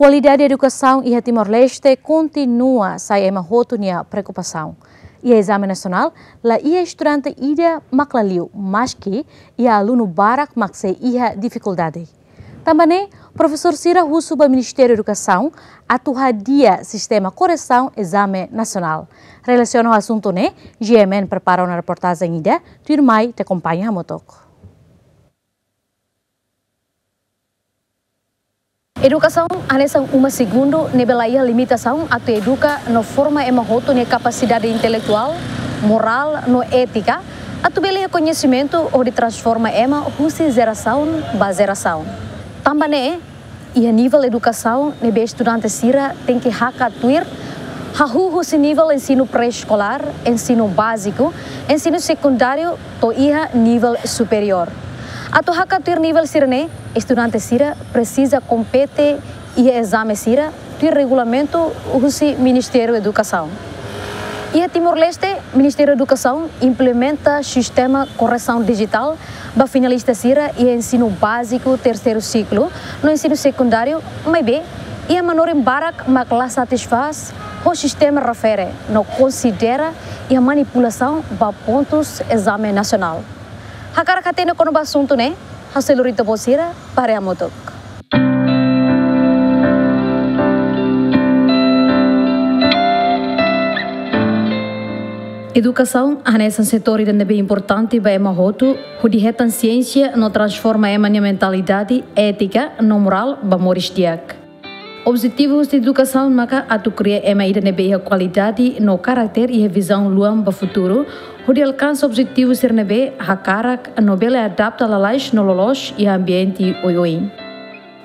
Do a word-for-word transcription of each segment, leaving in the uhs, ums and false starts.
Kualidade edukasaun iha Timor-Leste kontinua sai ema hotu nia preokupasaun. Iha ezame nasionál, la iha estudante ida mak la liu, maski iha alunu barak mak sei iha difikuldade. Tanba ne'e, profesór sira husu ba Ministériu Edukasaun atu hadi'a sistema korresaun ezame nasionál. Relasiona ho asuntu ne'e, G M N prepara ona reportajen ida, tuirmai ita akompaña hamutuk. Edukasaun hanesan uma segundu ne'ebé la iha limitasaun atu eduka no forma ema hotu nia kapasidade intelektuál, morál no étika, atu bele iha koñesimentu hodi transforma ema husi jerasaun ba jerasaun. Tanba ne'e, iha nivel edukasaun ne'ebé estudante sira tenke hakat tuir, hahú husi nivel ensinu pré-eskolár, ensinu báziku, ensinu sekundáriu, to'o iha nivel superiór. Atu hakat tuir nivel sira-ne'e, estudante sira presiza kompete iha ezame sira tuir regulamentu husi Ministériu Edukasaun. Iha Timor-Leste, Ministériu Edukasaun implementa sistema korresaun dijitál ba finalista sira iha ensinu báziku terseiru siklu no ensinu sekundáriu, maibé iha manorin barak mak la satisfás ho sistema refere no konsidera iha manipulasaun ba pontus ezame nasionál. Hakarak hatene kona-ba asuntu ne'e, ha'u sei lori ita-boot sira ba haree hamutuk. Edukasaun hanesan setór ida ne'ebé importante ba ema hotu, hodi hetan siénsia no transforma ema nia mentalidade, étika no morál ba moris di'ak. Objetivu husi edukasaun maka atu kria ema ida ne'ebé iha kualidade no karakter iha vizaun luan ba futuru, hodi alkansa objetivu sira ne'ebé hakarak no bele adapta lalais no loloos iha ambiente oioin.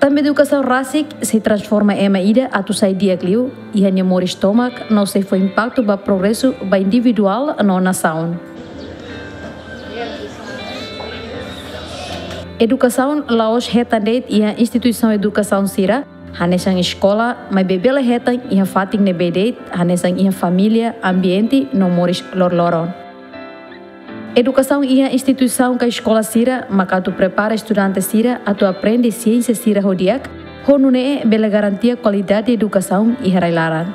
Tanba edukasaun rasik sei transforma ema ida atu sai di'ak liu iha nia moris tomak no sei fó impaktu ba progresu ba individuál no nasaun. Edukasaun la'ós hetan de'it iha instituisaun edukasaun sira, hanesan eskola, maibé bele hetan iha fatin ne'ebé de'it, hanesan iha família, ambiente no moris loroloron. Edukasaun iha instituisaun ka eskola sira maka atu prepara estudante sira atu aprende siénsia sira ho di'ak, ho nune'e bele garantia kualidade edukasaun iha rai-laran.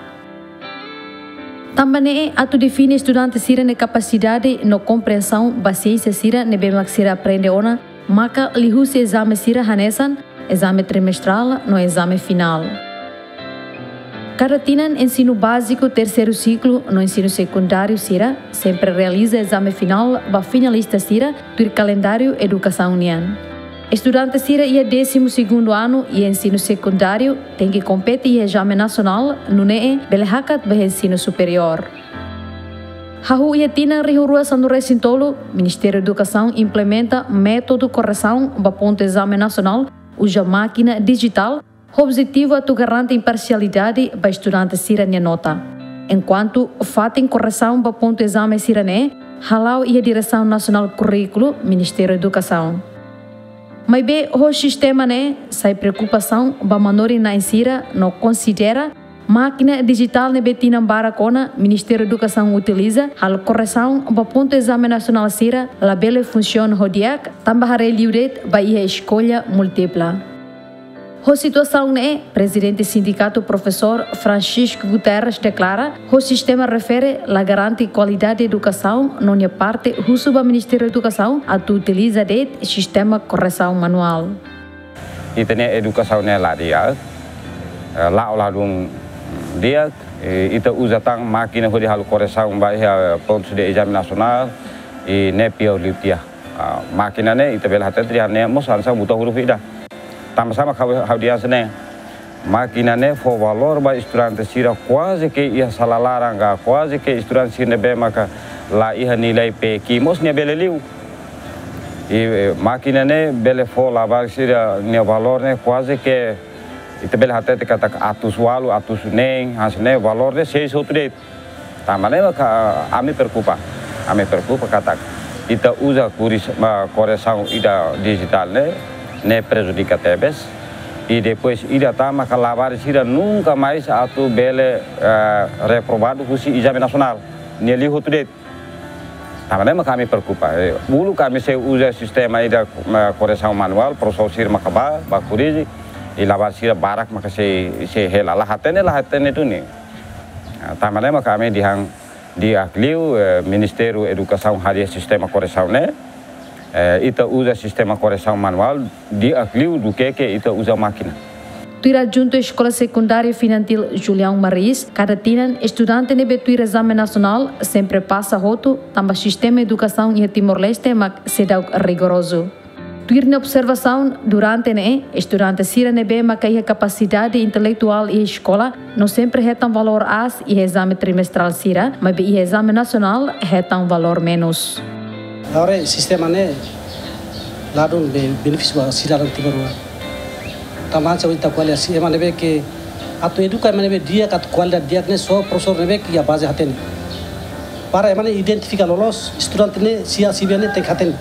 Tanba ne'e atu define estudante sira-nia kapasidade no komprensaun ba siénsia sira ne'ebé mak sira aprende ona, maka liuhusi ezame sira hanesan ezame trimestrál no ezame finál. Kada tinan ensinu báziku terseiru siklu no ensinu sekundáriu sira sempre realiza ezame finál ba finalista sira tuir kalendáriu edukasaun nian. Estudante sira iha désimu segundu anu iha ensinu sekundáriu tenke kompete iha ezame nasionál, nune'e bele hakat ba ensinu superiór. Hahú iha tinan rihun rua sanulu-resin-tolu, Ministériu Edukasaun implementa métodu korresaun ba pontu ezame nasionál uza mákina dijitál, ho objetivu atu garante imparsialidade ba estudante sira-nia nota. Enkuantu fatin korresaun ba pontu ezame sira-ne'e hala'o iha Diresaun Nasionál Kurríkulu, Ministériu Edukasaun. Maibé ho sistema ne'e sai preokupasaun ba manorin-na'in sira no konsidera mákina dijitál ne'ebé tinan barak ona Ministériu Edukasaun utiliza halo korresaun ba pontu ezame nasionál sira labele funsiona ho di'ak, tanba haree liu de'it ba iha eskolla múltipla. Ho situasaun ne'e, Prezidente Sindikatu Profesór Francisco Guterres deklara, ho sistema refere la garante kualidade edukasaun no nia parte husu ba Ministériu Edukasaun atu utiliza de'it sistema korresaun manuál. Ita-nia edukasaun ne'e la di'ak, eh, la'o ladún di'ak, eh, ita uza tan mákina hodi halo korresaun ba iha pontu de ezame nasionál, i ne'e piaur liu tiha. Ah, mákina ne'e ita bele hatete dehan ne'e mós hanesan buta huruf ida. Tanba sá mak ha'u, ha'u dehan hanesan ne'e. Mákina ne'e fó valór ba estudante sira kuaze ke iha sala laran ka, kuaze ke estudante sira ne'ebé maka la iha nilai peik mós nia bele liu. I, eh, mákina ne'e bele fó labarik sira-nia valór ne'e kuaze ke ita bele hatete katak atus ualu, atus neen, hanesan ne'e valór ne'e seis hotu de'it. Tanba ne'e maka ami preokupa. Ami preokupa katak ita uza kuris, ma, korresaun ida dijitál ne'e, ne'e prejudika tebes. I depois ida tan maka labarik sira nunka mais atu bele, eh, reprovadu husi ezame nasionál. Nia liu hotu de'it. Tanba ne'e maka ami preokupa. Eh, uluk ami sei uza sistema ida, ma, korresaun manuál, profesór sira maka bá, bá korrije. I labarik sira barak maka sei, sei hela, la hatene, la hatene duni. Ah, tanba ne'e maka ami dehan di'ak liu, eh, Ministériu Edukasaun hadia sistema koresaun ne'e, eh, ita uza sistema koresaun manuál, di'ak liu duké ke ita uza mákina. Tuir adjuntu Eskola Sekundária Finantil Julião Maris, kada tinan estudante ne'ebé tuir ezame nasionál sempre pasa hotu, tanba sistema edukasaun iha Timor-Leste mak seidauk rigorozu. Tuir nia observasaun, durante ne'e, estudante sira ne'ebé maka iha kapasidade intelektuál iha eskola, no sempre hetan valór aas iha ezame trimestrál sira, maibé iha ezame nasionál hetan valór menus. Agora sistema ne'e ladún be-, benefísiu ba sidadaun Timor-Leste. Tanba se ita ko'alia sistema ne'ebé ke atu eduka ema ne'ebé di'ak, atu kualidade di'ak ne'e só profesór ne'ebé ke iha baze hatene. Para ema ne'e identifika loloos, estudante ne'e, sia sibia ne'e tenke hatene.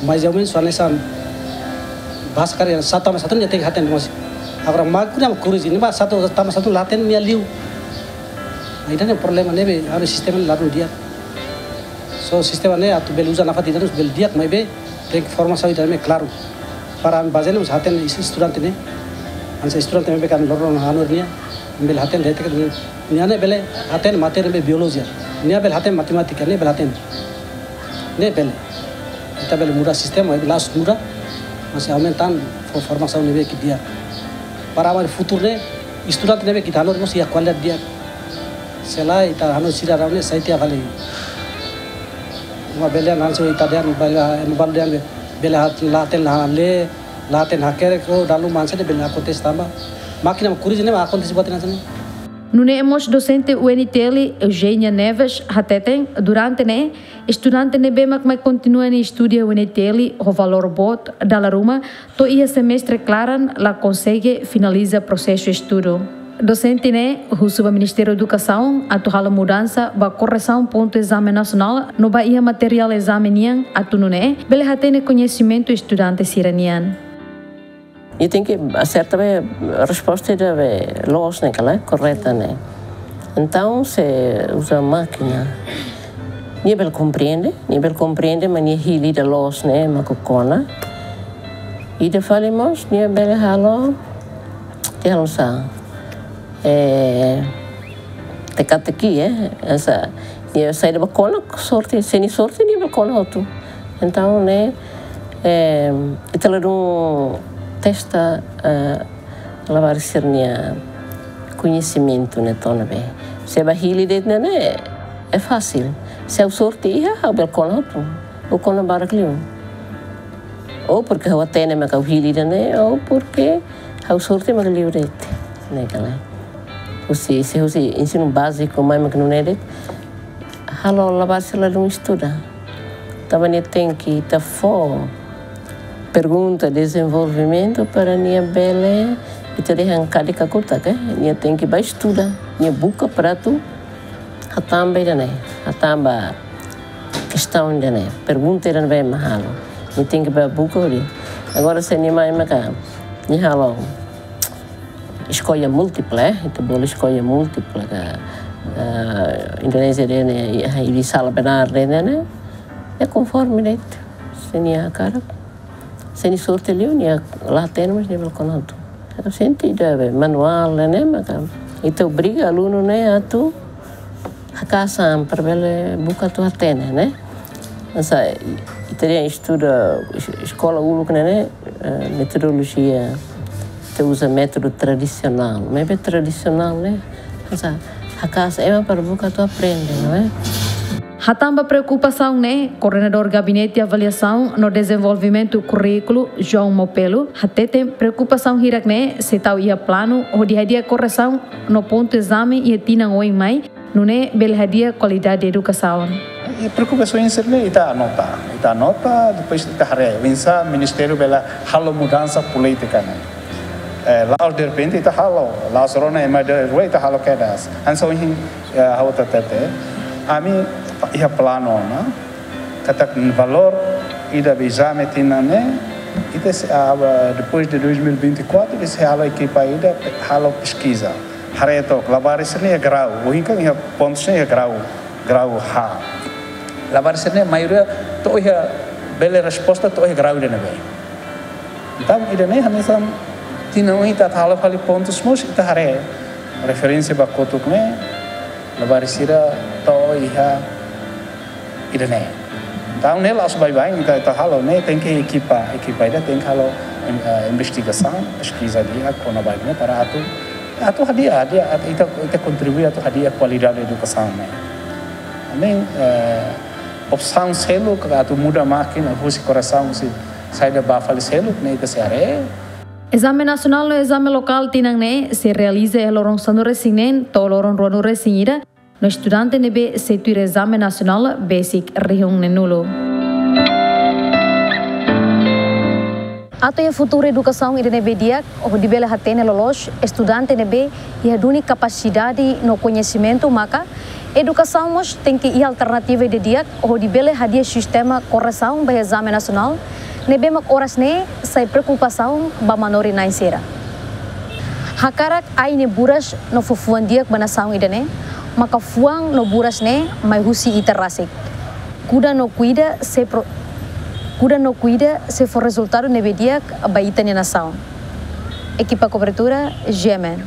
Mais ou menus, hanesan bahasa karik, satu tambah satu ne'e tenke hatene mós. Agora, mak ne'e mak kuriozu, ne'ebé satu tambah satu la hatene nia liu. Nah, ida-ne'e problema ne'ebé, ami sistema ne'e ladún di'ak. So, sistema ne'e atu bele uza nafatin ida-ne'e bele di'ak, maibé tenke formasaun ida-ne'e klaru. Para ami baze ne'e mós hatene es-, estudante ne'e. Hanesan estudante ne'ebé kan loron hanorin nia, bele hatene de'it ke nia ne'e bele hatene matéria be biolojia. Nia bele hatene matemátika, nia bele hatene. Ne'e bele. Ita bele muda sistema, la'ós muda, mas aumenta fo-, formasaun ne'ebé ke di'ak. Para ami futuru ne'e, estudante ne'ebé ke ita hanorin mós iha kualidade di'ak. Se lae, ita hanorin sidadaun ne'e sai tiha fali. Uma bele nan so ita dehan, bele, ema balu dehan be, bele hat-, la hatene, la lee, la hatene hakerek, oh, dalu mansa de bele akontese tanba mákina mak kuriozu ne'e mak akontese buat hanesan ne'e. Nune'e mós dosente U N T L, Eugenia Neves, hateten, durante ne'e, estudante ne'ebé mak mai kontinua nia estudu iha U N T L ho valór boot, dala ruma, to'o iha semestre klaran la konsege finaliza prosesu estudu. Dosente ne'e husu ba Ministériu Edukasaun atu halo mudansa ba koresaun pontu ezame nasionál no ba iha materiál ezame nian atu nune'e bele hatene koñesimentu estudante sira-nian. Nia tenke aserta be resposta ida be loos ne'e ka lae, korreta ne'e. Entaun, se uza mákina, nia bele komprende, nia bele komprende, mas nia hili ida loos ne'e mak kona. Ida fali mós, nia bele halo, nia halo sá, eh, teka-teki, eh, hanesan, nia saida mak kona, sorte, se nia sorte, nia bele kona hotu. Entaun, ne'e, eh, ita ladún testa, eh, labarik sira-nia koñesimentu ne'e to'o ne'ebé. Se ba hili de'it ne'e, ne'e, é fasil. Se ha'u sorte iha, ha'u bele kona hotu. Ou kona barak liu. Ou porke ha'u hatene mak ha'u hili ida-ne'e, ou porke ha'u sorte mak liu de'it. Ne'e ka lae. Husi, se husi ensinu báziku mai mak nune'e de'it. Halo labarik sira ladún estuda. Tanba nia tenke ita fó pergunta dezenvolvimentu para nia bele, ita dehan karik kakutak, eh? Nia tenke bá estuda, nia buka para atu hatán ba ida-ne'e, hatán ba kestaun ida-ne'e, pergunta ida-ne'ebé mak halo. Nia tenke bá buka hodi. Agora se nia mai maka, nia halo eskolla múltipla, eh? Ita bolu eskolla múltipla ka, eh, Indonézia dehan ne'e, eh, iha sala benar dehan ne'e, ne'e konforme de'it. Se nia hakarak. Se nia sorte liu, nia la hatene, mas nia bele kona hotu. Entaun, sente ida be manuál ne'e, ne'e, maka ita obriga alunu ne'e atu haka'as an para bele buka atu hatene, ne'e. Hanesan, ita dehan estuda es-, eskola uluk ne'e, ne'e, eh, metodolojia, ita uza métodu tradisionál. Maibé tradisionál ne'e, hanesan, haka'as ema para buka atu aprende, não é? Hatán ba preokupasaun ne'e, Koordenadór Gabinete Avaliasaun no Dezenvolvimentu Kurríkulu, João Mopelo, hateten preokupasaun hirak-ne'e sei tau iha planu hodi hadi'a koresaun no pontu ezame iha tinan oin mai, nune'e bele hadi'a kualidade edukasaun. E preokupasaun sira-ne'e ita anota, ita anota, depois ita haree, oinsá ministériu bele halo mudansa polítika ne'e. Eh, la'ós derrepente ita halo, la'ós rona ema dehan rua ita halo kedas. Hanesan ohin, eh, ha'u hatete, ami iha planu ona, katak valór ida be ezame tinan ne'e, ita sei, ah, depois de dois mil e vinte e quatro, ita sei halo ekipa ida, halo peskiza. Haree took, labarik sira-ne'e iha grau, ohin kan iha pontu sira-ne'e iha grau, grau H. Labarik sira-ne'e maioria to'o iha, bele resposta to'o iha grau ida-ne'ebé. Entaun, ida-ne'e hanesan Tinan ita atu halo fali pontus mós ita haree referénsia ba kotuk ne'e, labarik sira to'o iha ida-ne'e. Entaun ne'e la'ós baibain ita, ita halo ne'e, tenke ekipa, ekipa ida tenke halo, em, eh, investigasaun, peskiza di'ak kona-ba ne'e para atu, atu hadi'a, hadi'a, atu ita, ita kontribui atu hadi'a kualidade edukasaun ne'e. Ami, eh, opsaun seluk atu muda mákina husi korresaun husi saida ba fali seluk ne'e ita sei haree. Ezame nasionál no ezame lokál tinan ne'e sei realiza iha loron sanulu-resin-neen to'o loron ruanulu-resin-ida, no estudante ne'ebé sei tuir ezame nasionál besik rihun neenulu. Atu iha futuru edukasaun ida ne'ebé di'ak, hodi bele hatene loloos estudante ne'ebé iha duni kapasidade no koñesimentu, maka edukasaun mós tenke iha alternativa ida di'ak hodi bele hadi'a sistema korresaun ba ezame nasionál, ne'ebé mak oras ne'e sai preokupasaun ba manorin-na'in sira. Hakarak ai nia buras no fó fuan di'ak ba nasaun ida-ne'e, maka fuan no buras ne'e mai husi ita rasik. Kuda no kuida sei pro-, kuda no kuida sei fó rezultadu ne'ebé di'ak ba ita-nia nasaun. Ekipa kobertura, G M N.